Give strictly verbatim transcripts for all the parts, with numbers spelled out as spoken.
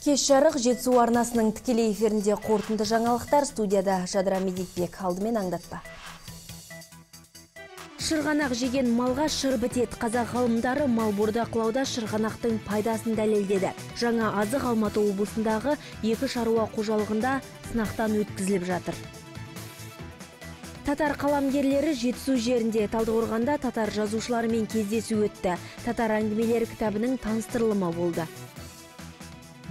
Кеш жарық Жетісу арнасының тікелей эфирінде қорытынды жаңалықтар. Студияда Жадыра Медетбек. Алдымен аңдатпа. Шырғанақ жеген малға шыр бітет. Қазақ ғалымдары мал бордақылауда шырғанақтың пайдасын дәлелдеді. Жаңа азық Алматы облысындағы екі шаруа қожалығында сынақтан өткізіліп жатыр. Татар қаламгерлері Жетісу жерінде Талдықорғанда татар жазушыларымен кездесу өтті. Татар әңгімелері кітабының таныстырылымы болды.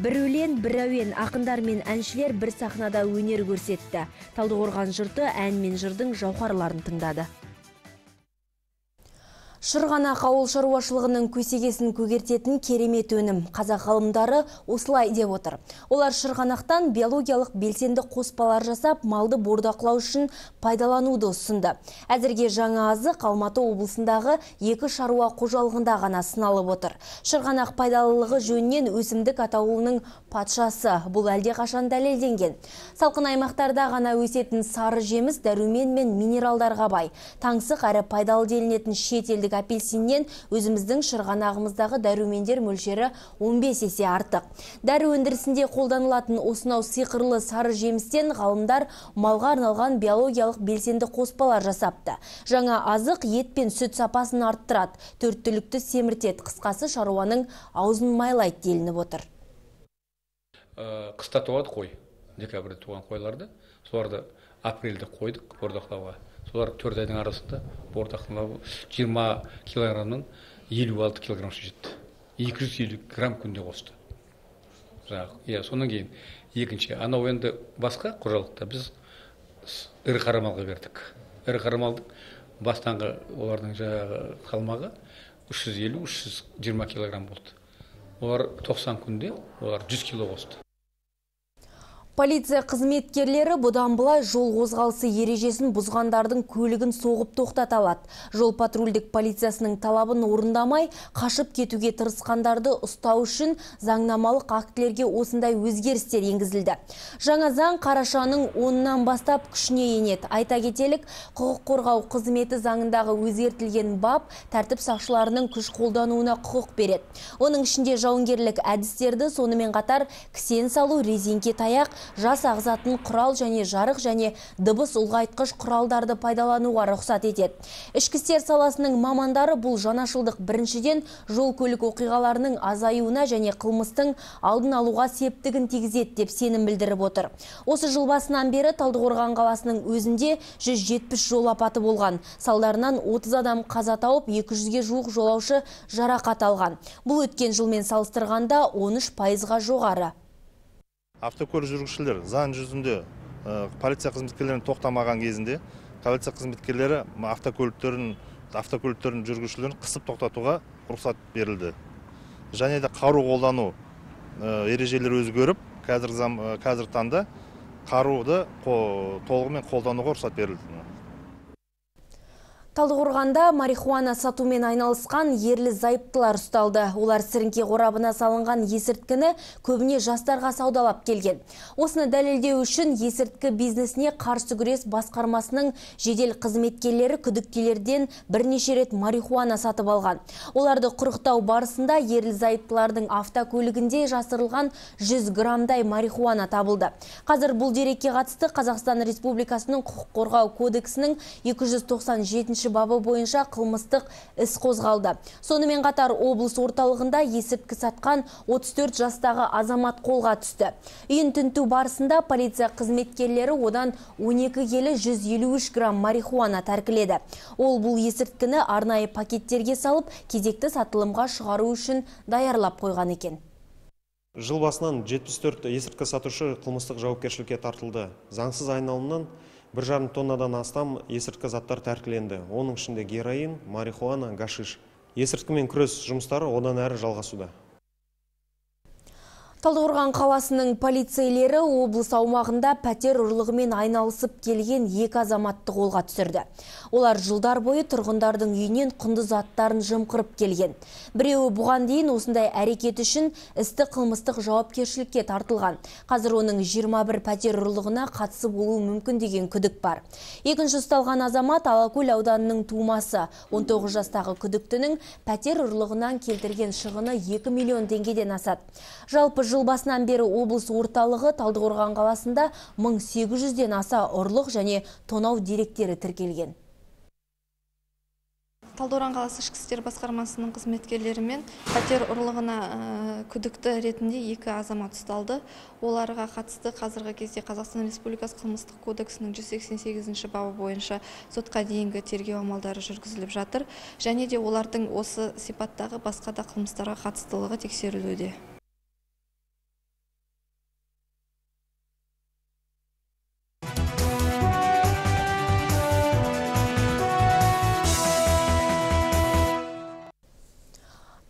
Бір өлең, бір әуен, ақындар мен әншілер бір сахнада өнер көрсетті. Талдықорған жұрты ән мен жырдың жауһарларын тыңдады. Шырғанақ ауыл шаруашылығының көсегесін көгертетін керемет өнім. Қазақ ғалымдары осылай деп отыр. Олар шырғанақтан биологиялық белсенді қоспалар жасап, малды бордақылау үшін пайдалануды ұсынды. Әзірге жаңа азық Алматы облысындағы екі шаруа қожалығында ғана сыналып отыр. Шырғанақ пайдалылығы жөнінен өсімдік атаулының патшасы. Бұл әлде қашан дәлелденген. Салқын аймақтарда ғана өсетін сары жеміс дәрумен мен минералдарға бай. Таңсық әрі пайдалы делінетін шетелдік апельсиннен өзіміздің шырғанағымыздағы дәрумендер мөлшері он бес есе артық. Дәрі өндірісінде қолданылатын осынау сиқырлы сары жемістен ғалымдар малға арналған биологиялық белсенді қоспалар жасапты. Жаңа азық ет пен сүт сапасын арттырады, төрт түлікті семіртеді, қысқасы шаруаның аузын майлайды делініп отыр. Қыста туады қой, декабрьде туған қойларды, соларды апрельде қойдық бордақылауға. Солар төрт айдың арасында бордақылау жиырма килограммнан елу алты килограммға жетті. екі жүз елу грамм күнде қосты. Иә, сонан кейін екінші, анау енді басқа қожалықта біз ірі қара малға бердік. Ірі қара малдың бастаңғы олардың жаңағы қалмағы үш жүз елу - үш жүз жиырма килограмм болды. Олар тоқсан күнде олар жүз кило қосты. Полиция қызметкерлері бұдан былай жол қозғалысы ережесін бұзғандардың көлігін соғып тоқтата алады. Жол патрульдік полициясының талабын орындамай, қашып кетуге тырысқандарды ұстау үшін заңнамалық актілерге осындай өзгерістер енгізілді. Жаңа заң қарашаның онынан бастап күшіне енеді. Айта кетелік, құқық қорғау қызметі заңындағы өзгертілген бап тәртіп сақшыларының күш қолдануына құқық береді. Оның ішінде жауынгерлік әдістерді, сонымен қатар кісен салу, резеңке таяқ, жас ағзатын құрал және жарық және дыбыс ұлғайтқыш құралдарды пайдалануға рұқсат етеді. Ішкі істер саласының мамандары бұл жаңашылдық біріншіден жол көлік оқиғаларының азаюына және қылмыстың алдын алуға септігін тигізеді деп сенім білдіріп отыр. Осы жыл басынан бері Талдықорған қаласының өзінде жүз жетпіс жол апаты болған. Салдарынан отыз адам қаза тауып, екі жүзге жуық жолаушы жарақат алған. Бұл өткен жылмен салыстырғанда он үш пайызға жоғары. Автокөлік жүргізушілер заң жүзінде полиция қызметкерлерін тоқтамаған кезінде полиция қызметкерлері автокөліктерін автокөліктерін жүргізушілерін қысып тоқтатуға рұқсат берілді. Және де қару қолдану ережелері өзгеріп, қазір қазір таңда қаруды толығымен қолдануға рұқсат берілді. Талдықорғанда марихуана сатумен айналысқан ерлі зайыптылар ұсталды. Олар сіріңке қорабына салынған есірткіні көбіне жастарға саудалап келген. Осыны дәлелдеу үшін есірткі бизнесіне қарсы күрес басқармасының жедел қызметкерлері күдіктілерден бірнеше рет марихуана сатып алған. Оларды құрықтау барысында ерлі зайыптылардың автокөлігінде жасырылған жүз граммдай марихуана табылды. Қазір бұл дерекке қатысты Қазақстан Республикасының құқық қорғау кодексінің екі жүз тоқсан жетінші бабы бойынша қылмыстық іс қозғалды. Сонымен қатар облыс орталығында есірткі сатқан отыз төрт жастағы азамат қолға түсті. Үйін тінту барысында полиция қызметкерлері одан он екі келі жүз елу үш грамм марихуана тәркіледі. Ол бұл есірткіні арнайы пакеттерге салып, кезекті сатылымға шығару үшін даярлап қойған екен. Жыл басынан жетпіс төрт есірткі сатушы қылмыстық жауапкершілікке тартылды. Заңсыз айналымнан бір жарым тоннадан астам есірткі заттар тәркіленді. Оның ішінде героин, марихуана, гашиш. Есірткімен күрес жұмыстары одан әрі жалғасуда. Талдықорған қаласының полицейлері облыс аумағында пәтер ұрлығымен айналысып келген екі азаматты қолға түсірді. Олар жылдар бойы тұрғындардың үйінен құнды заттарын жымқырып келген. Біреуі бұған дейін осындай әрекет үшін істі қылмыстық жауапкершілікке тартылған. Қазір оның жиырма бір пәтер ұрлығына қатысы болуы мүмкін деген күдік бар. Екінші ұсталған азамат Алакөл ауданының тумасы. он тоғыз жастағы күдіктінің пәтер ұрлығынан келтірген шығыны екі миллион теңгеден асады. Жалпы жыл басынан бері облыс орталығы Талдықорған қаласында мың сегіз жүзден аса ұрлық және тонау деректері тіркелген. Талдықорған қаласы ішкі істер басқармасының қызметкерлерімен пәтер ұрлығына күдікті ретінде екі азамат ұсталды. Оларға қатысты қазіргі кезде Қазақстан Республикасы қылмыстық кодексінің жүз сексен сегізінші бабы бойынша сотқа дейінгі тергеу амалдары жүргізіліп жатыр. Және де олардың осы сипаттағы басқа да қылмыстарға қатыстылығы тексерілуде.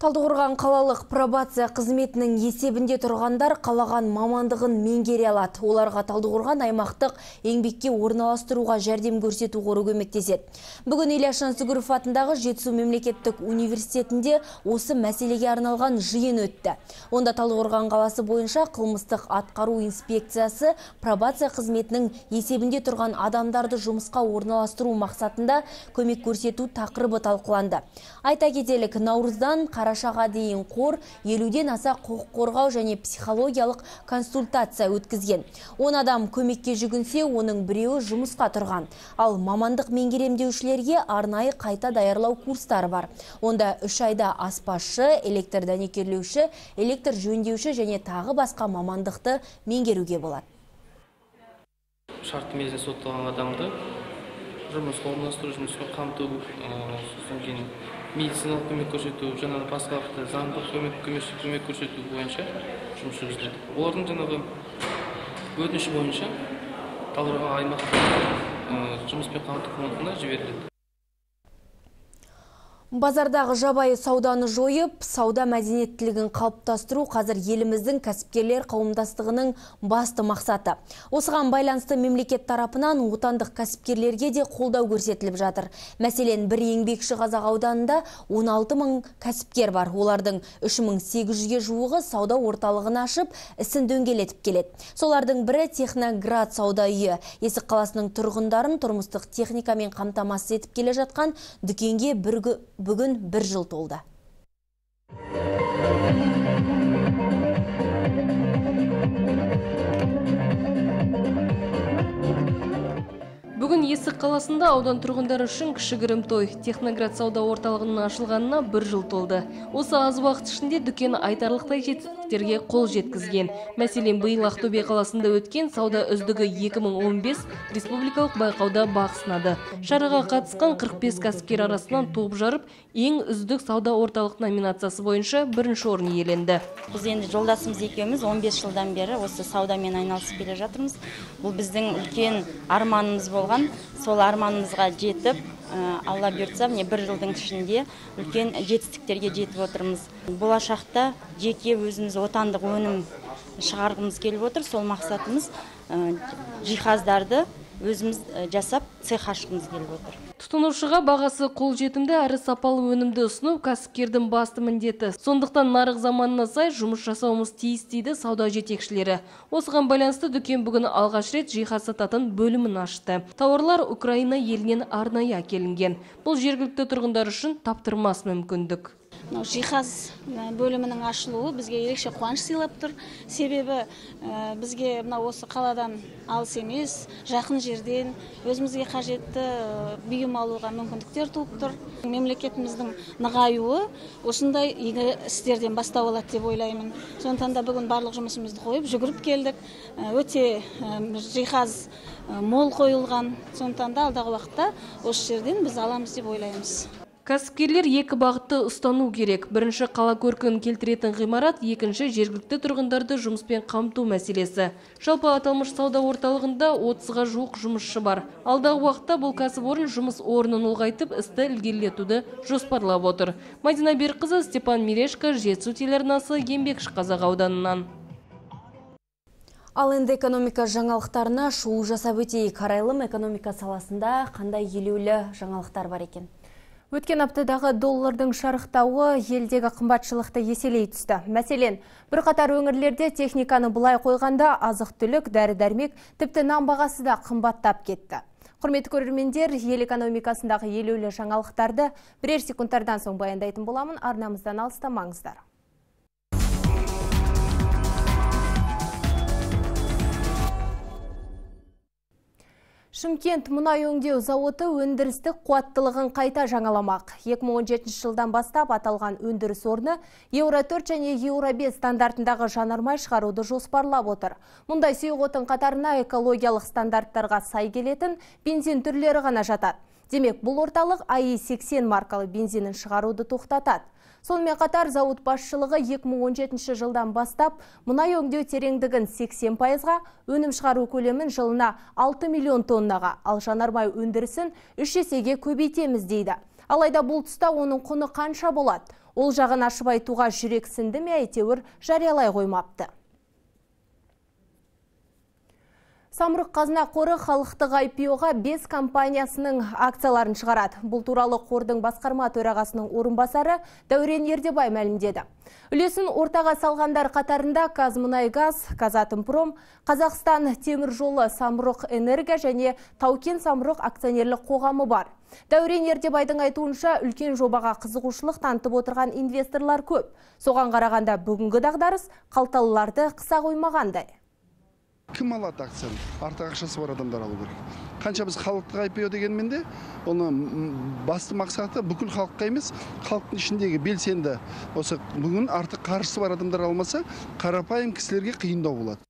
Талдықорған қалалық пробация қызметінің есебінде тұрғандар қалаған мамандығын меңгере алады. Оларға Талдықорған аймақтық еңбекке орналастыруға жәрдем көрсету қоры көмектеседі. Бүгін Ильяс Жансүгіров атындағы Жетісу мемлекеттік университетінде осы мәселеге арналған жиын өтті. Онда Талдықорған қаласы бойынша қылмыстық атқару инспекциясы пробация қызметінің есебінде тұрған адамдарды жұмысқа орналастыру мақсатында көмек көрсету тақырыбы талқыланды. Айта кетелік, наурыздан қарашаға дейін қор елуден аса құқық қорғау және психологиялық консультация өткізген. он адам көмекке жүгінсе, оның біреуі жұмысқа тұрған. Ал мамандық меңгеремдеушілерге арнайы қайта даярлау курстары бар. Онда үш айда аспазшы, электр дәнекерлеуші, электр жөндеуші және тағы басқа мамандықты меңгеруге болады. Шартты мерзімде сотталған адамды жұмысқа орналастыру, жұмыспен қамту, сосын кейін медициналық көмек көрсету, жаңағы басқа заңдық көмек көрсету бойынша жұмыс жүргізіледі. Олардың жаңағы өтініші бойынша Талдықорған аймақтық жұмыспен қамту фондына жіберіледі. Базардағы жабайы сауданы жойып, сауда мәдениеттілігін қалыптастыру қазір еліміздің кәсіпкерлер қауымдастығының басты мақсаты. Осыған байланысты мемлекет тарапынан отандық кәсіпкерлерге де қолдау көрсетіліп жатыр. Мәселен, бір еңбекші Қазақ ауданында он алты мың кәсіпкер бар. Олардың үш мың сегіз жүзге жуығы сауда орталығын ашып, ісін дөңгелетіп келеді. Солардың бірі Техноград сауда үйі. Есік қаласының тұрғындарын тұрмыстық техникамен қамтамасыз етіп келе жатқан дүкенге біргі бүгін бір жыл толды. Бүгін Есік қаласында аудан тұрғындары үшін кішігірім той. Техноград сауда орталығының ашылғанына бір жыл толды. Осы аз уақыт ішінде дүкен айтарлықтай жетістіктерге қол жеткізген. Мәселен, биыл Ақтөбе қаласында өткен сауда үздігі екі мың он бес республикалық байқауда бақ сынады. Шараға қатысқан қырық бес кәсіпкер арасынан топ жарып, ең үздік сауда орталық номинациясы бойынша бірінші орын иеленді. Біз енді жолдасымыз екеуміз он бес жылдан бері осы саудамен айналысып келе жатырмыз. Бұл біздің үлкен арманымыз болған. Сол арманымызға жетіп, Алла бұйыртса, міне бір жылдың ішінде үлкен жетістіктерге жетіп отырмыз. Болашақта жеке өзіміз отандық өнім шығарғымыз келіп отыр. Сол мақсатымыз жиһаздарды өзіміз жасап цех ашқымыз келіп отыр. Тұтынушыға бағасы қолжетімді әрі сапалы өнімді ұсыну кәсіпкердің басты міндеті. Сондықтан нарық заманына сай жұмыс жасауымыз тиіс дейді сауда жетекшілері. Осыған байланысты дүкен бүгін алғаш рет жиһаз сататын бөлімін ашты. Тауарлар Украина елінен арнайы әкелінген. Бұл жергілікті тұрғындар үшін таптырмас мүмкіндік. Жиһаз бөлімінің ашылуы бізге ерекше қуаныш сыйлап тұр. Себебі бізге осы қаладан алыс емес, жақын жерден өзімізге қажетті бұйым алуға мүмкіндіктер туып тұр. Мемлекетіміздің нығаюы осындай игі істерден бастау алады деп ойлаймын. Сондықтан да бүгін барлық жұмысымызды қойып жүгіріп келдік. Өте жиһаз мол қойылған. Сондықтан да алдағы уақытта осы жерден біз аламыз деп ойлаймыз. Кәсіпкерлер екі бағытты ұстану керек. Бірінші қала көркін келтіретін ғимарат, екінші жергілікті тұрғындарды жұмыспен қамту мәселесі. Жалпы аталмыш сауда орталығында отызға жуық жұмысшы бар. Алдағы уақытта бұл кәсіпорын жұмыс орнын ұлғайтып, істі ілгерілетуді жоспарлап отыр. Мадина Берқызы, Степан Мирешко, Жетісу телеарнасы, еңбекші Қазақ ауданынан. Ал енді экономика жаңалықтарына шолу жасап өтейік. Қарайлым экономика саласында қандай елеулі жаңалықтар бар екен? Өткен аптадағы доллардың шарықтауы елдегі қымбатшылықты еселей түсті. Мәселен, бір қатар өңірлерде техниканы бұлай қойғанда азық-түлік, дәрі-дәрмек, тіпті нан бағасы да қымбаттап кетті. Құрметті көрермендер, ел экономикасындағы елеулі жаңалықтарды бірер секундтардан соң баяндайтын боламын. Арнамыздан алыстамаңыздар. Шымкент мұнай өңдеу зауыты өндірістік қуаттылығын қайта жаңаламақ. екі мың он жетінші жылдан бастап аталған өндіріс орны Еуро төрт және Еуро бес стандартындағы жанармай шығаруды жоспарлап отыр. Мұндай сұйық отын қатарына экологиялық стандарттарға сай келетін бензин түрлері ғана жатады. Демек, бұл орталық а и сексен маркалы бензинін шығаруды тоқтатады. Сонымен қатар зауыт басшылығы екі мың он жетінші жылдан бастап мұнай өңдеу тереңдігін сексен пайызға, өнім шығару көлемін жылына алты миллион тоннаға, ал жанармай өндірісін үш есеге көбейтеміз дейді. Алайда бұл тұста оның құны қанша болады? Ол жағын ашып айтуға жүрексінді ме, әйтеуір жариялай қоймапты. Самұрық қазына қоры халықтық ай пи о-ға бес компаниясының акцияларын шығарады. Бұл туралы қордың басқарма төрағасының орынбасары Дәурен Ердебай мәлімдеді. Үлесін ортаға салғандар қатарында Қазмұнайгаз, Казатомпром, Қазақстан темір жолы, Самұрық энерго және Таукен Самұрық акционерлік қоғамы бар. Дәурен Ердебайдың айтуынша үлкен жобаға қызығушылық танытып отырған инвесторлар көп. Соған қарағанда бүгінгі дағдарыс қалталыларды қыса қоймағандай. Кім алады акцияны? Артық ақшасы бар адамдар алу керек. Қанша біз халықтық ай пи о дегенмен де, оны басты мақсаты бүкіл халыққа емес, халықтың ішіндегі белсенді. Осы бүгін артық қаржысы бар адамдар алмаса, қарапайым кісілерге қиындау болады.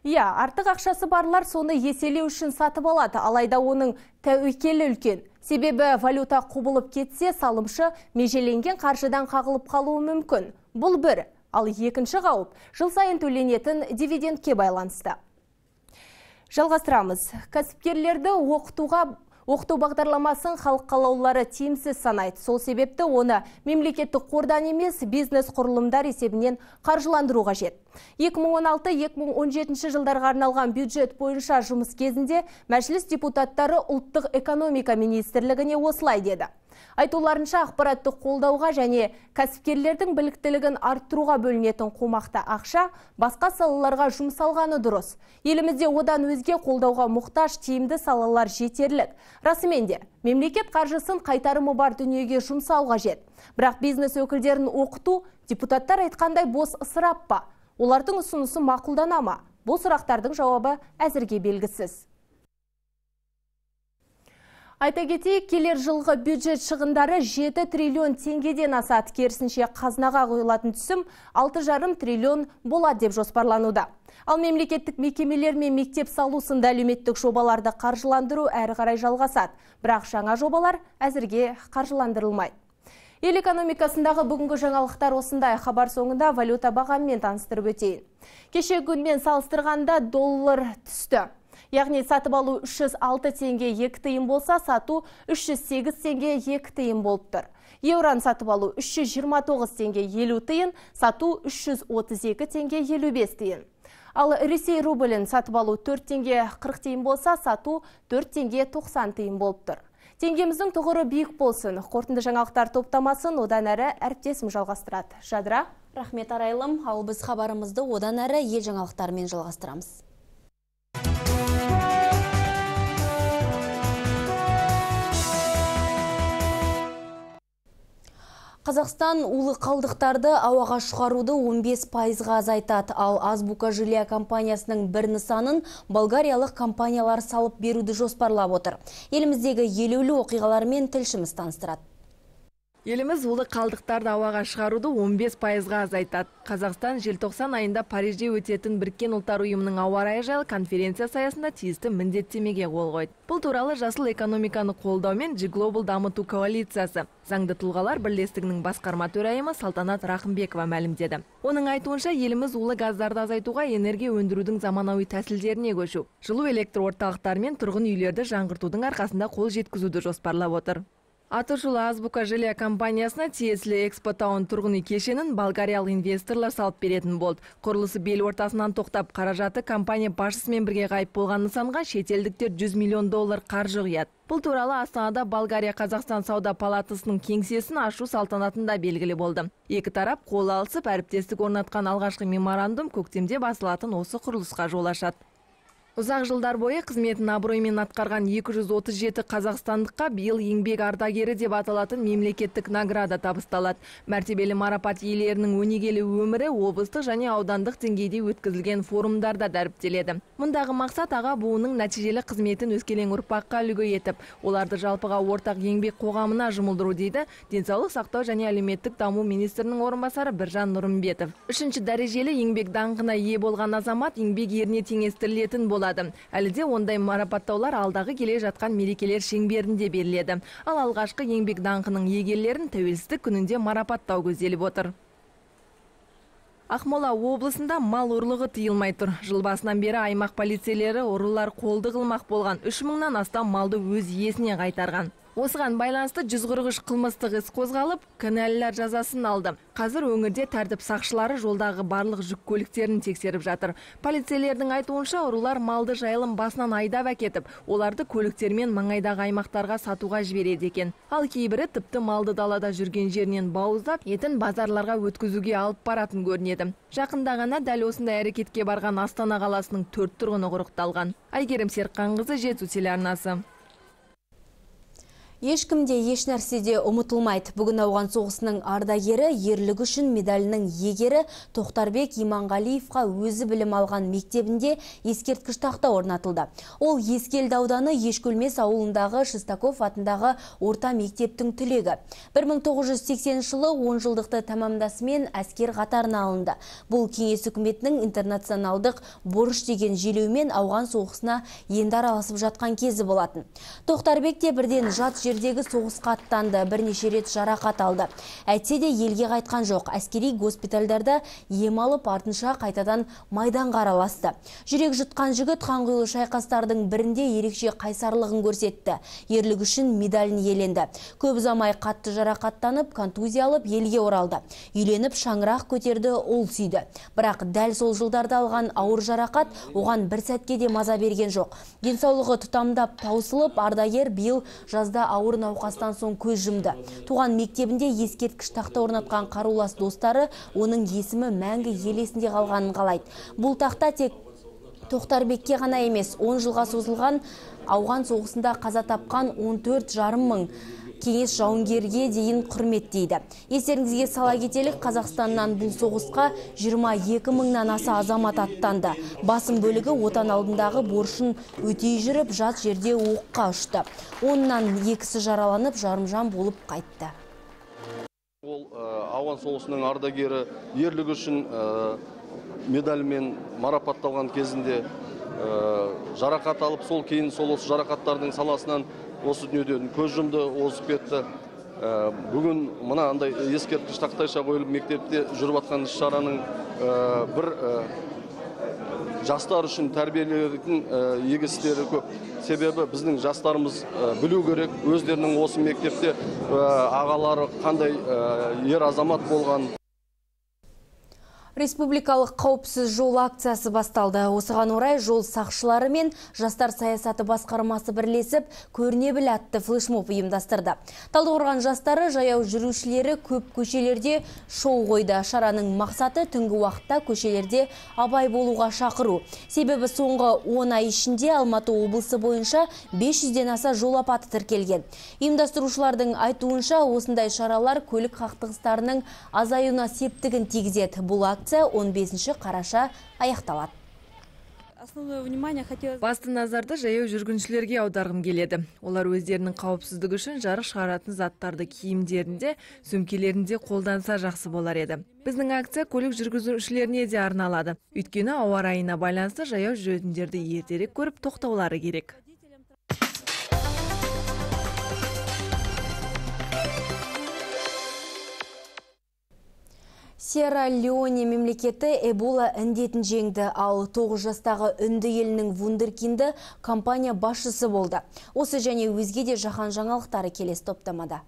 Иә, артық ақшасы барлар соны еселеу үшін сатып алады, алайда оның тәуекелі үлкен. Себебі валюта құбылып кетсе, салымшы межеленген қаржыдан қағылып қалуы мүмкін. Бұл бір. Ал екінші қауіп жыл сайын төленетін дивидендке байланысты. Жалғастырамыз. Кәсіпкерлерді оқытуға оқыту бағдарламасын халық қалаулылары тиімсіз санайды. Сол себепті оны мемлекеттік қордан емес, бизнес құрылымдар есебінен қаржыландыру қажет. екі мың он алты - екі мың он жетінші жылдарға арналған бюджет бойынша жұмыс кезінде мәжіліс депутаттары ұлттық экономика министрлігіне осылай деді. Айтуларынша ақпараттық қолдауға және кәсіпкерлердің біліктілігін арттыруға бөлінетін қомақты ақша басқа салаларға жұмсалғаны дұрыс. Елімізде одан өзге қолдауға мұқтаж тиімді салалар жетерлік. Расымен де, мемлекет қаржысын қайтарымы бар дүниеге жұмсау қажет. Бірақ бизнес өкілдерін оқыту депутаттар айтқандай бос ысырап па? Олардың ұсынысы мақұлдана ма? Бұл сұрақтардың жауабы әзірге белгісіз. Айта кетейік, келер жылғы бюджет шығындары жеті триллион теңгеден асады. Керісінше қазынаға қойылатын түсім алты жарым триллион болады деп жоспарлануда. Ал мемлекеттік мекемелер мен мектеп салу сынды әлеуметтік жобаларды қаржыландыру әрі қарай жалғасады. Бірақ жаңа жобалар әзірге қаржыландырылмайды. Ел экономикасындағы бүгінгі жаңалықтар осындай. Хабар соңында валюта бағамымен таныстырып өтейін. Кеше күнмен салыстырғанда доллар түсті. Яғни сатып алу үш жүз алты теңге екі тиын болса, сату үш жүз сегіз теңге екі тиын болып тұр. Еуран сатып алу үш жүз жиырма тоғыз теңге елу тиын, сату үш жүз отыз екі теңге елу бес тиын. Ал Ресей рублін сатып алу төрт теңге қырық тиын болса, сату төрт теңге тоқсан тиын болып тұр. Теңгеміздің тұғыры биік болсын. Қорытынды жаңалықтар топтамасын одан әрі әріптесім жалғастырады. Жадыра, рахмет арайлым. Ал біз хабарымызды одан әрі ел жаңалықтарымен жалғастырамыз. Қазақстан улы қалдықтарды ауаға шығаруды он бес пайызға азайтады, ал Азбука Жилия компаниясының бір нысанын болгариялық компаниялар салып беруді жоспарлап отыр. Еліміздегі елеулі оқиғалармен тілшіміз таныстырады. Еліміз улы қалдықтарды ауаға шығаруды он бес пайызға азайтады. Қазақстан желтоқсан айында Парижде өтетін Біріккен ұлттар ұйымының ауа райы жайлы конференция саясында тиісті міндеттемеге қол қойды. Бұл туралы жасыл экономиканы қолдаумен G Global дамыту коалициясы заңды тұлғалар бірлестігінің басқарма төрайымы Салтанат Рахымбекова мәлімдеді. Оның айтуынша еліміз улы газдарды азайтуға энергия өндірудің заманауи тәсілдеріне көшу, жылу электр орталықтары мен тұрғын үйлерді жаңғыртудың арқасында қол жеткізуді жоспарлап отыр. Атышулы Азбука Жилия компаниясына тиесілі экспотаун тұрғын үй кешенін болгариялық инвесторлар салып беретін болды. Құрылысы бел ортасынан тоқтап, қаражаты компания басшысымен бірге ғайып болған нысанға шетелдіктер жүз миллион доллар қаржы құяды. Бұл туралы Астанада Болгария Қазақстан сауда палатасының кеңсесін ашу салтанатында белгілі болды. Екі тарап қол алысып, әріптестік орнатқан алғашқы меморандум көктемде басылатын осы құрылысқа жол ашады. Ұзақ жылдар бойы қызметін абыроймен атқарған екі жүз отыз жеті қазақстандыққа биыл еңбек ардагері деп аталатын мемлекеттік награда табысталады. Мәртебелі марапат иелерінің өнегелі өмірі облыстық және аудандық деңгейде өткізілген форумдарда дәріптеледі. Мұндағы мақсат аға буынның нәтижелі қызметін өскелең ұрпаққа үлгі етіп, оларды жалпыға ортақ еңбек қоғамына жұмылдыру дейді денсаулық сақтау және әлеуметтік даму министрінің орынбасары Біржан Нұрымбетов. Үшінші дәрежелі еңбек даңқына ие болған азамат еңбек еріне теңестірілетін болады. Әлі де ондай марапаттаулар алдағы келе жатқан мерекелер шеңберінде беріледі. Ал алғашқы еңбек даңқының иегерлерін тәуелсіздік күнінде марапаттау көзделіп отыр. Ақмола облысында мал ұрлығы тыйылмай тұр. Жыл басынан бері аймақ полицейлері ұрылар қолды қылмақ болған үш мыңнан астам малды өз иесіне қайтарған. Осыған байланысты жүз қырық үш қылмыстық іс қозғалып, кінәлілер жазасын алды. Қазір өңірде тәртіп сақшылары жолдағы барлық жүк көліктерін тексеріп жатыр. Полицейлердің айтуынша ұрылар малды жайылым басынан айдап әкетіп, оларды көліктермен маңайдағы аймақтарға сатуға жібереді екен. Ал кейбірі тіпті малды далада жүрген жерінен бауыздап, етін базарларға өткізуге алып баратын көрінеді. Жақында ғана дәл осындай әрекетке барған Астана қаласының төрт тұрғыны құрықталған. Айгерім Серікқанқызы, Жетісу телеарнасы. Ешкімде еш нәрседе ұмытылмайды. Бүгін ауған соғысының ардагері, ерлігі үшін медалінің егері Тоқтарбек Иманғалиевқа өзі білім алған мектебінде ескерткіш тақта орнатылды. Ол Ескелді ауданы Ешкөлмес ауылындағы Шестаков атындағы орта мектептің түлегі. бір мың тоғыз жүз сексенінші жылы он жылдықты тамамдасымен әскер қатарына алынды. Бұл кеңес үкіметінің интернационалдық борыш деген желеумен ауған соғысына енді араласып жатқан кезі болатын. Тоқтарбек те бірден жат жердегі соғысқа аттанды, бірнеше рет жарақат алды. Әйтсе де елге қайтқан жоқ. Әскери госпитальдарда ем алып, артынша қайтадан майданға араласты. Жүрек жұтқан жігіт қанқұйлы шайқастардың бірінде ерекше қайсарлығын көрсетті. Ерлігі үшін медалін иеленді. Көп ұзамай қатты жарақаттанып, контузия алып елге оралды. Үйленіп шаңырақ көтерді, ұл сүйді. Бірақ дәл сол жылдарда алған ауыр жарақат оған бір сәтке де маза берген жоқ. Денсаулығы тұтамдап таусылып, ардагер биыл жазда ауыр науқастан соң көз жұмды. Туған мектебінде ескерткіш тақта орнатқан қарулас достары оның есімі мәңгі ел есінде қалғанын қалайды. Бұл тақта тек Тоқтарбекке ғана емес, он жылға созылған ауған соғысында қаза тапқан он төрт жарым мың кеңес жауынгерге дейін құрметтейді. Естеріңізге сала кетелік, Қазақстаннан бұл соғысқа жиырма екі мыңнан аса азамат аттанды. Басым бөлігі отан алдындағы борышын өтей жүріп, жат жерде оққа ұшты. Оннан екісі жараланып, жарымжан болып қайтты. Ол ауған соғысының ардагері ерлігі үшін медальмен марапатталған кезінде жарақат алып, сол кейін сол осы жарақаттардың саласынан осы дүниеден көз жұмды, озып кетті. Бүгін мына андай ескерткіш тақтайша қойылып мектепте жүріп жатқан іс-шараның бір жастар үшін тәрбиелейтін игі істері көп. Себебі біздің жастарымыз білу керек, өздерінің осы мектепте ағалары қандай ер азамат болған. Республикалық қауіпсіз жол акциясы басталды. Осыған орай жол сақшылары мен жастар саясаты басқармасы бірлесіп көріне біл атты флешмоб ұйымдастырды. Талдықорған жастары жаяу жүрушілері көп көшелерде шоу қойды. Шараның мақсаты түнгі уақытта көшелерде абай болуға шақыру. Себебі соңғы он ай ішінде Алматы облысы бойынша бес жүзден аса жол апаты тіркелген. Ұйымдастырушылардың айтуынша осындай шаралар көлік қақтығыстарының азаюына септігін тигізеді. Бұл акция он бесінші қараша аяқталады. Басты назарды жаяу жүргіншілерге аударғым келеді. Олар өздерінің қауіпсіздігі үшін жарық шығаратын заттарды киімдерінде, сөмкелерінде қолданса жақсы болар еді. Біздің акция көлік жүргізушілеріне де арналады. Өйткені ауа райына байланысты жаяу жүретіндерді ертерек көріп тоқтаулары керек. Сьерра-Леоне мемлекеті Эбола індетін жеңді, ал тоғыз жастағы үнді елінің вундеркинді компания басшысы болды. Осы және өзге де жаһан жаңалықтары келесі топтамада.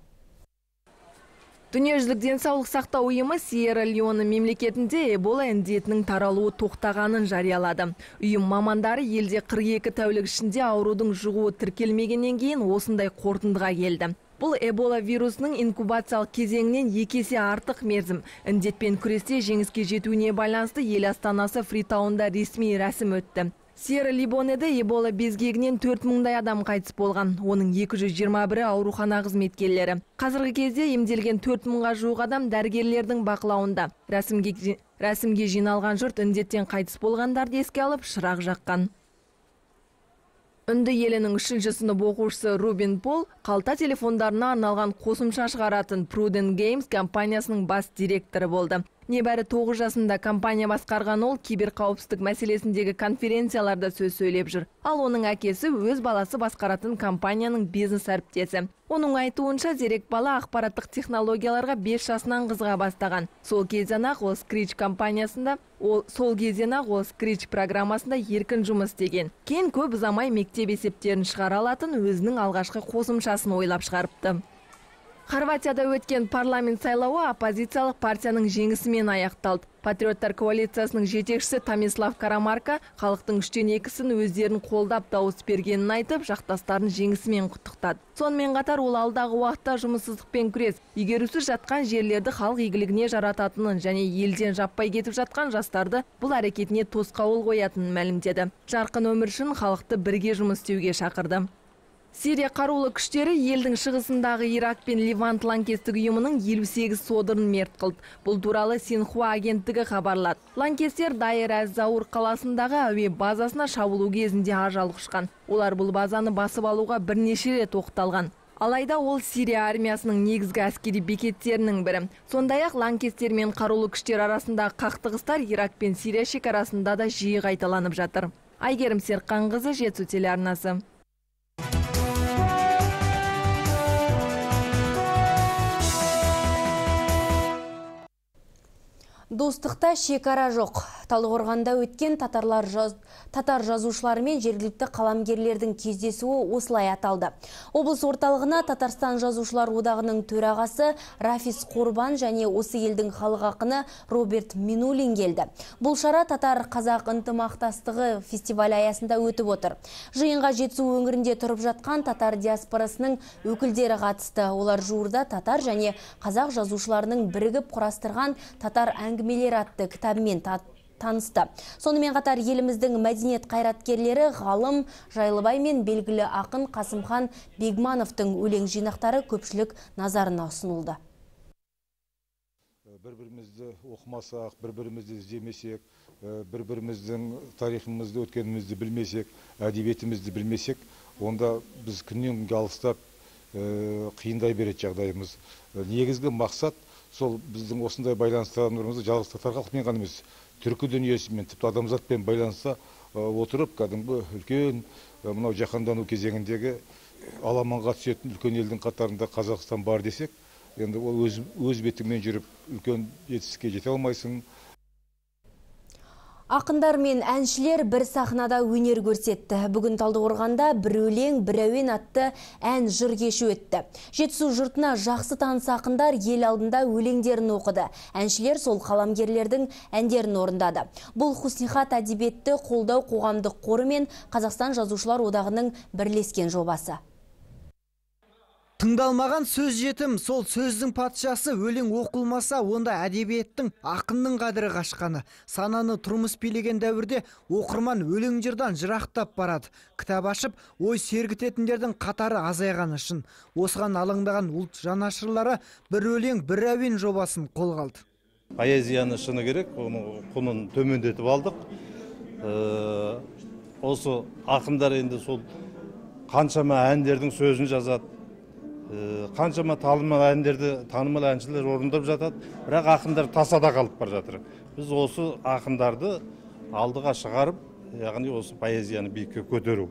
Дүниежүзілік денсаулық сақтау ұйымы Сьерра-Леоне мемлекетінде Эбола індетінің таралуы тоқтағанын жариялады. Ұйым мамандары елде қырық екі тәулік ішінде аурудың жұғуы тіркелмегеннен кейін осындай қорытындыға келді. Бұл Эбола вирусының инкубациялық кезеңінен екі есе артық мерзім. Індетпен күресте жеңіске жетуіне байланысты ел астанасы Фритаунда ресми рәсім өтті. Сьерра-Леонеде Эбола безгегінен төрт мыңдай адам қайтыс болған. Оның екі жүз жиырма бірі аурухана қызметкерлері. Қазіргі кезде емделген төрт мыңға жуық адам дәрігерлердің бақылауында. Рәсімге, рәсімге жиналған жұрт індеттен қайтыс болғандарды еске алып шырақ жаққан. Үнді елінің үшінші сынып оқушысы Рубин Пол қалта телефондарына арналған қосымша шығаратын Prudent Games компаниясының бас директоры болды. Небәрі тоғыз жасында компания басқарған ол киберқауіпсіздік мәселесіндегі конференцияларда сөз сөйлеп жүр. Ал оның әкесі өз баласы басқаратын компанияның бизнес әріптесі. Оның айтуынша зерек бала ақпараттық технологияларға бес жасынан қызыға бастаған. Сол кезден ақ ол Scratch компаниясында, ол сол кезден ақ ол Scratch программасында еркін жұмыс істеген. Кейін көп ұзамай мектеп есептерін шығара алатын өзінің алғашқы қосымшасын ойлап шығарыпты. Хорватияда өткен парламент сайлауы оппозициялық партияның жеңісімен аяқталды. Патриоттар коалициясының жетекшісі Томислав Карамарка халықтың үштен екісін өздерін қолдап дауыс бергенін айтып, жақтастарын жеңісімен құттықтады. Сонымен қатар ол алдағы уақытта жұмыссыздықпен күрес, игерусіз жатқан жерлерді халық игілігіне жарататынын және елден жаппай кетіп жатқан жастарды бұл әрекетіне тосқауыл қоятынын мәлімдеді. Жарқын өмір үшін халықты бірге жұмыс істеуге шақырды. Сирия қарулы күштері елдің шығысындағы Ирак пен Ливант лаңкестік ұйымының елу сегіз содырын мерт қылды. Бұл туралы Синхуа агенттігі хабарлады. Лаңкестер Дайр-әз-Заур қаласындағы әуе базасына шабуылу кезінде ажал құшқан. Олар бұл базаны басып алуға бірнеше рет тоқталған. Алайда ол Сирия армиясының негізгі әскери бекеттерінің бірі. Сондай-ақ лаңкестер мен қарулы күштер арасындағы қақтығыстар Ирак пен Сирия шекарасында да жиі қайталанып жатыр. Айгерім Серқанқызы, Жетісу телеарнасы. Достықта шекара жоқ. Талдықорғанда өткен татарлар жаз... татар жазушылары мен жергілікті қаламгерлердің кездесуі осылай аталды. Облыс орталығына Татарстан жазушылар одағының төрағасы Рафис Қорбан және осы елдің халық ақыны Роберт Минулин келді. Бұл шара татар-қазақ ынтымақтастығы фестивалі аясында өтіп отыр. Жиынға Жетісу өңірінде тұрып жатқан татар диаспорасының өкілдері қатысты. Олар жуырда татар және қазақ жазушыларының бірігіп құрастырған татар әңгімелер атты кітабымен танысты. Сонымен қатар еліміздің мәдениет қайраткерлері ғалым Жайлыбай мен белгілі ақын Қасымхан Бегмановтың өлең жинақтары көпшілік назарына ұсынылды. Бір-бірімізді оқымасақ, бір-бірімізді іздемесек, бір-біріміздің тарихымызды, өткенімізді білмесек, әдебиетімізді білмесек, онда біз күннен күнге алыстап қиындай береді жағдайымыз. Негізгі мақсат сол біздің осындай байланыстарымызды жалғыз татар халқымен ғана емес, түркі дүниесімен, тіпті адамзатпен байланыса отырып, кәдімгі үлкен мынау жаһандану кезеңіндегі аламанға түсетін үлкен елдің қатарында Қазақстан бар десек, енді ол өз, өз бетіңмен жүріп үлкен жетістікке жете алмайсың. Ақындар мен әншілер бір сахнада өнер көрсетті. Бүгін Талдықорғанда бір өлең, бір әуен атты ән жыр кеші өтті. Жетісу жұртына жақсы таныс ақындар ел алдында өлеңдерін оқыды. Әншілер сол қаламгерлердің әндерін орындады. Бұл Хуснихат әдебиетті қолдау қоғамдық қоры мен Қазақстан жазушылар одағының бірлескен жобасы. Тыңдалмаған сөз жетім, сол сөздің патшасы. Өлең оқылмаса, онда әдебиеттің, ақынның қадірі қашқаны. Сананы тұрмыс билеген дәуірде оқырман өлең жырдан жырақтап барады. Кітап ашып, ой сергітетіндердің қатары азайғаны үшін. Осыған алаңдаған ұлт жанашырлары бір өлең, бір әуен жобасын қолға алды. Поэзияны шыны керек, оның құнын төмендетіп алдық. Осы ақындар енді сол қаншама әндердің сөзін жазады. Қаншама танымал әндерді танымал әншілер орындап жатады, бірақ ақындар тасада қалып бар жатыр. Біз осы ақындарды алдыға шығарып, яғни осы поэзияны биікке көтеру.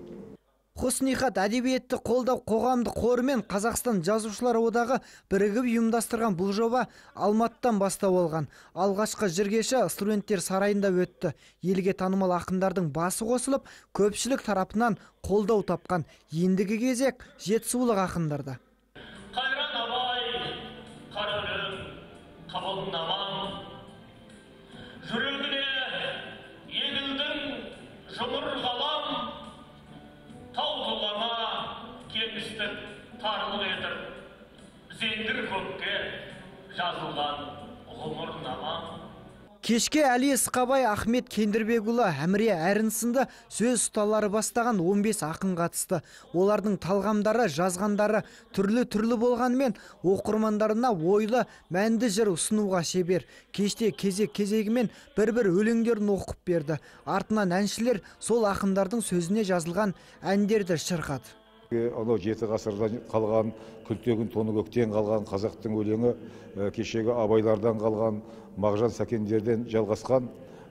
Хуснихат әдебиетті қолдау қоғамдық қоры мен Қазақстан жазушылар одағы бірігіп ұйымдастырған бұл жоба Алматыдан бастау алған. Алғашқы жыр-кеші студенттер сарайында өтті. Елге танымал ақындардың басы қосылып, көпшілік тарапынан қолдау тапқан. Ендігі кезек жетісулық ақындарда. Жүрегіне егілдің жұмыр қалам, тау тұлғама кемістік тарлық етіп, зеңгір көкке жазылған ғұмыр намам. Кешке Әли Ысқабай, Ахмет Кендірбекұлы, Әміре Әрін сынды сөз ұсталары бастаған он бес ақын қатысты. Олардың талғамдары, жазғандары түрлі-түрлі болғанымен, оқырмандарына ойлы, мәнді жыр ұсынуға шебер. Кеште кезек-кезегімен бір-бір өлеңдерін оқып берді. Артынан әншілер сол ақындардың сөзіне жазылған әндерді шырқады. Анау жеті ғасырдан қалған, күлтегін тоны көктен қалған қазақтың өлеңі, кешегі абайлардан қалған, Мағжан Сәкендерден жалғасқан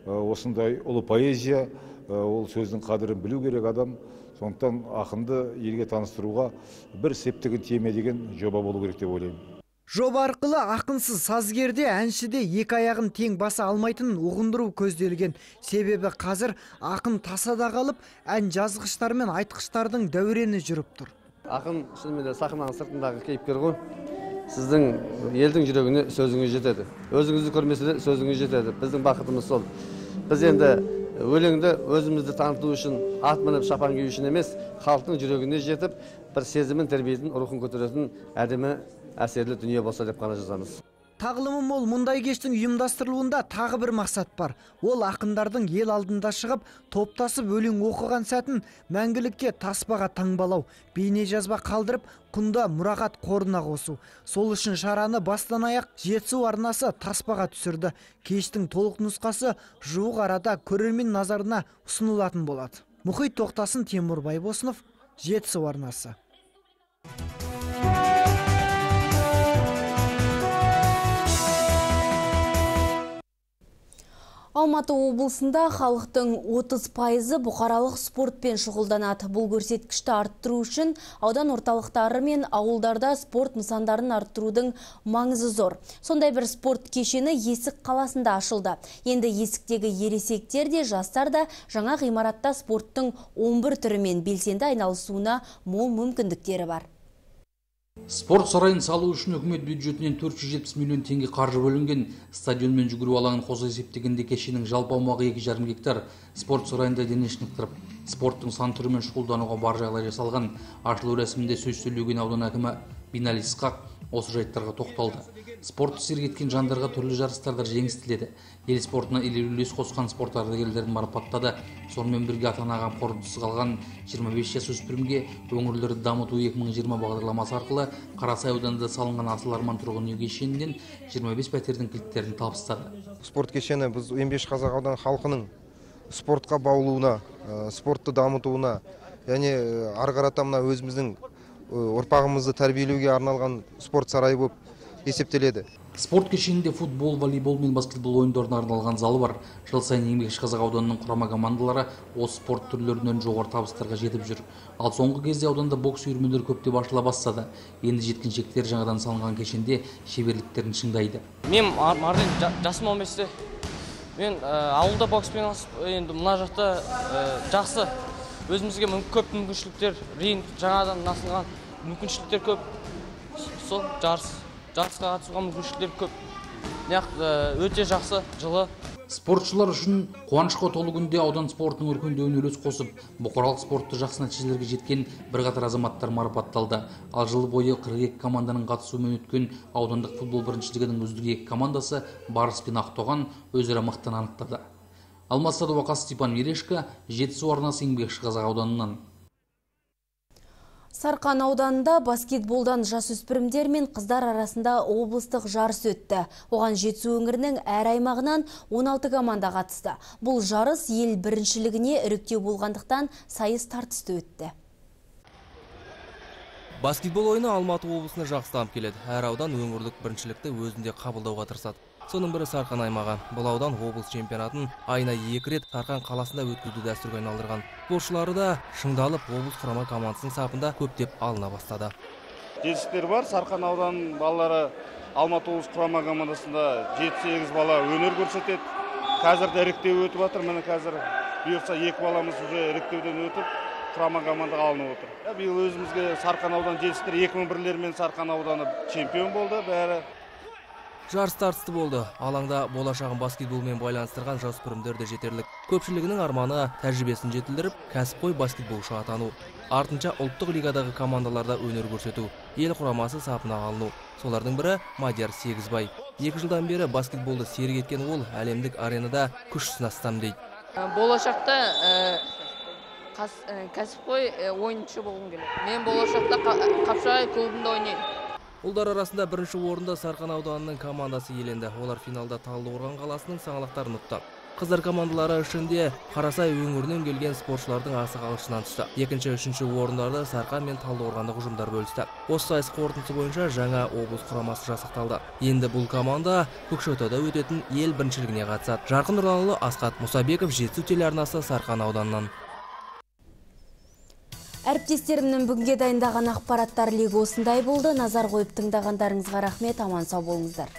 осындай ұлы поэзия, ол сөздің қадірін білу керек адам. Сондықтан ақынды елге таныстыруға бір септігін тиме деген жоба болу керек деп ойлаймын. Жоба арқылы ақынсыз сазгерде, әншіде екі аяғын тең баса алмайтынын ұғындыру көзделген. Себебі қазір ақын тасада қалып, ән жазғыштар мен айтқыштардың дәурені жүріп тұр. Ақын шынымен де сахнаның сыртындағы кейіпкер ғой. Сіздің елдің жүрегіне сөзіңіз жетеді. Өзіңізді көрмесе де сөзіңіз жетеді. Біздің бақытымыз сол. Біз енді өлеңді өзімізді таныту үшін, ат мініп шапан кию үшін емес, халықтың жүрегіне жетіп, бір сезімін, тәрбиетін, рухын көтеретін әдемі әсерлі дүние болса деп қана жазамыз. Тағылымы мол мұндай кештің ұйымдастырылуында тағы бір мақсат бар. Ол ақындардың ел алдында шығып, топтасып өлең оқыған сәтін мәңгілікке таспаға таңбалау, бейне жазба қалдырып, құнда мұрағат қорына қосу. Сол үшін шараны бастан аяқ Жетісу арнасы таспаға түсірді. Кештің толық нұсқасы жуық арада көрермен назарына ұсынылатын болады. Мұхит Тоқтасын, Темір Байбосынов, Жетісу арнасы. Алматы облысында халықтың отыз пайызы бұқаралық спортпен шұғылданады. Бұл көрсеткішті арттыру үшін аудан орталықтары мен ауылдарда спорт нысандарын арттырудың маңызы зор. Сондай бір спорт кешені Есік қаласында ашылды. Енді Есіктегі ересектер де, жастар да жаңа ғимаратта спорттың он бір түрімен белсенді айналысуына мол мүмкіндіктері бар. Спорт сарайын салу үшін үкімет бюджетінен төрт жүз жетпіс миллион теңге қаржы бөлінген. Стадион мен жүгіру алаңын қоса есептегенде кешеннің жалпы аумағы екі жарым гектар. Спорт сарайында дене шынықтырып, спорттың сан түрімен шұғылдануға бар жағдай жасалған. Ашылу рәсімінде сөз сөйлеген аудан әкімі Бинали Исқақ осы жайттарға тоқталды. Спортты сергеткен жандарға түрлі жарыстарда жеңіс тіледі. Ел спортына елеулі үлес қосқан спорт ардагерлерін марапаттады. Сонымен бірге ата-анаға қорытындысыз қалған жиырма бес жасөспірімге өңірлерді дамыту екі мың жиырма бағдарламасы арқылы Қарасай ауданында салынған Асыл Арман тұрғын үй кешенінен жиырма бес пәтердің кілттерін табыстады. Спорт кешені біз он бес қазақ ауданы халқының спортқа баулуына, спортты дамытуына, яғни ары қарата мына өзіміздің ұрпағымызды тәрбиелеуге арналған спорт сарайы болып есептеледі. Спорт кешенінде футбол, волейбол мен баскетбол ойындарына арналған залы бар. Жыл сайын Еңбекші Қазақ ауданының құрама командалары осы спорт түрлерінен жоғары табыстарға жетіп жүр. Ал соңғы кезде ауданда бокс үйірмелері көптеп ашыла бастады. Енді жеткіншектер жаңадан салынған кешенде шеберліктерін шыңдайды. Мен Марлен жасым он бесте. Мен ауылда бокспен енді мына жақта жақсы. Өзімізге көп мүмкіншіліктер, ринг жаңадан насылған мүмкіншіліктер көп. Сол жарыс жарысқа қатысуға мүмкіншіліктер көп. Өте жақсы, жылы. Спортшылар үшін қуанышқа толы күнде аудан спортының өркендеуіне үлес қосып, бұқаралық спортты жақсы нәтижелерге жеткен бірқатар азаматтар марапатталды. Ал жыл бойы қырық екі команданың қатысуымен өткен аудандық футбол біріншілігінің үздік екі командасы Барыс пен Ақтоған өзара мықтыны анықтады. Алмас Садуақас, Степан Мерешко, Жетісу арнасы, Еңбекші Қазақ ауданынан. Сарқан ауданында баскетболдан жасөспірімдер мен қыздар арасында облыстық жарыс өтті. Оған Жетісу өңірінің әр аймағынан он алты команда қатысты. Бұл жарыс ел біріншілігіне іріктеу болғандықтан сайыс тартысты өтті. Баскетбол ойыны Алматы облысына жақсы дамып келеді. Әр аудан өңірлік біріншілікті өзінде қабылдауға тырысады. Соның бірі Сарқан аймағы. Бұл аудан облыс чемпионатын айына екі рет Сарқан қаласында өткізуді дәстүрге айналдырған. Спортшылары да шыңдалып облыс құрама командасының сапында көптеп алына бастады. Жетістіктер бар. Сарқан ауданының балалары Алматы облыс құрама командасында жеті сегіз бала өнер көрсетеді. Қазір де іріктеу өтіп жатыр. Міне қазір бұйырса екі баламыз уже іріктеуден өтіп құрама командаға алынып отыр. Биыл өзімізге Сарқан аудан жетістіктер екі мың бірлермен Сарқан ауданы чемпион болды бәрі. Жарыс тартысты болды. Алаңда болашағын баскетболмен байланыстырған жасөспірімдер де жетерлік. Көпшілігінің арманы тәжірибесін жетілдіріп, кәсіпқой баскетболшы атану. Артынша ұлттық лигадағы командаларда өнер көрсету, ел құрамасы сапына алыну. Солардың бірі Мадияр Сегізбай. Екі жылдан бері баскетболды серік еткен ол әлемдік аренада күш сынастым дейді. Болашақта кәсіпқой ойыншы болғым келеді. Мен болашақта Қапшағай клубында ойнаймын. Ұлдар арасында бірінші орында Сарқан ауданының командасы иеленді. Олар финалда Талдықорған қаласының саңлақтарын ұтты. Қыздар командалары ішінде Қарасай өңірінен келген спортшылардың асық алышынан түсті. Екінші, үшінші орындарды Сарқан мен Талдықорғандық ұжымдар бөлісті. Осы сайыс қорытындысы бойынша жаңа облыс құрамасы жасақталды. Енді бұл команда Көкшетауда өтетін ел біріншілігіне қатысады. Жарқын Нұрланұлы, Асқат Мұсабеков, Жетісу телеарнасы, Сарқан ауданынан. Әріптестерімнің бүгінге дайындаған ақпараттар легі осындай болды. Назар қойып тыңдағандарыңызға рахмет, аман сау болыңыздар.